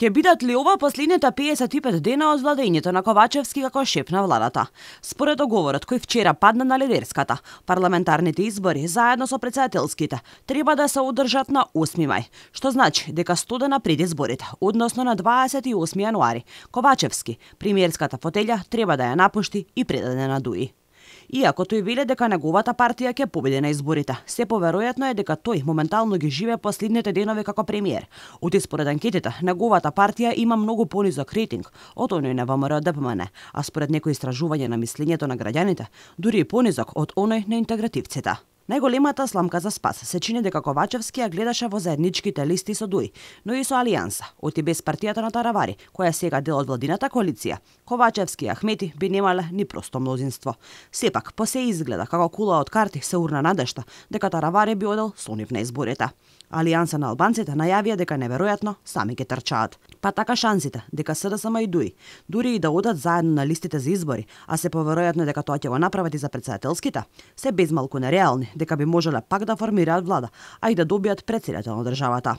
Ке бидат ли ова последните 55 дена од владењето на Ковачевски како шеф на владата? Според договорот кој вчера падна на лидерската, парламентарните избори заедно со претседателските треба да се одржат на 8 мај, што значи дека 100 дена пред изборите, односно на 28 јануари, Ковачевски премиерската фотелја треба да ја напушти и предаде на ДУИ. Иако тој веле дека неговата партија ќе победи на изборите, се поверојатно е дека тој моментално ги живее последните денови како премиер. Оти според анкетите, неговата партија има многу понизок рейтинг од оној на ВМРО-ДПМН, а според некои истражувања на мислењето на граѓаните, дури и понизок од оној на интегративците. Најголемата сламка за спас се чини дека Ковачевски ја гледаше во заедничките листи со ДУИ, но и со Алијанса, оти без партијата на Таравари, која сега дел од владината коалиција. Ковачевски и Ахмети би немале ни просто мнозинство. Сепак, по се изгледа како кула од карти се урна надежта дека Таравари би одел со нив на изборите. Алијанса на албанците најавија дека неверојатно сами ќе трчаат. Па така шансите дека СДСМ и ДУИ, дури и да одат заедно на листите за избори, а се поверојатно дека тоа ќе го направат и за претседателските, се безмалку нереални дека би можеле пак да формираат влада, а и да добијат претседател на државата.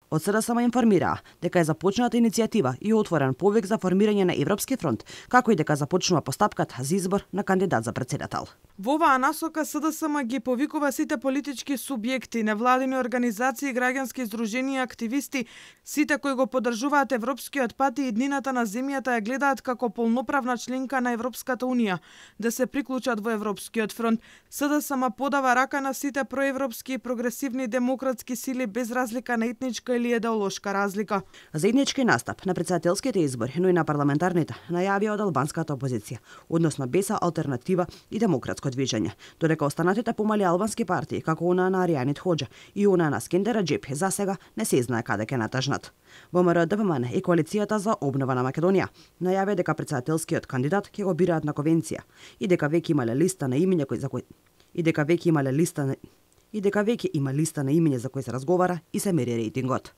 Од СДСМ информираа дека е започната иницијатива и отворен повик за формирање на Европски фронт, како и дека започнува постапката за избор на кандидат за претседател. Во оваа насока СДСМ ги повикува сите политички субјекти, невладини организации, граѓански издруженија, активисти, сите кои го поддржуваат европскиот пат и иднината на земјата ја гледаат како полноправна членка на Европската унија, да се приклучат во Европскиот фронт. СДСМ подава рака на сите проевропски и прогресивни демократски сили без разлика на етничка или идеолошка разлика. Заеднички настап на претседателските избори, но и на парламентарните, најавија од албанската опозиција, односно БЕСА, Алтернатива и Демократско движење, додека останатите помали албански партии, како она на Аријанит Хоџа и она на Скендер Раџепи, за сега не се знае каде ќе натажнат. ВМРО-ДПМН и коалицијата за обнова на Македонија најавија дека претседателскиот кандидат ќе го бираат на конвенција и дека веќе имале листа на имиња има листа на имиња за кои се разговара и се мери рейтингот.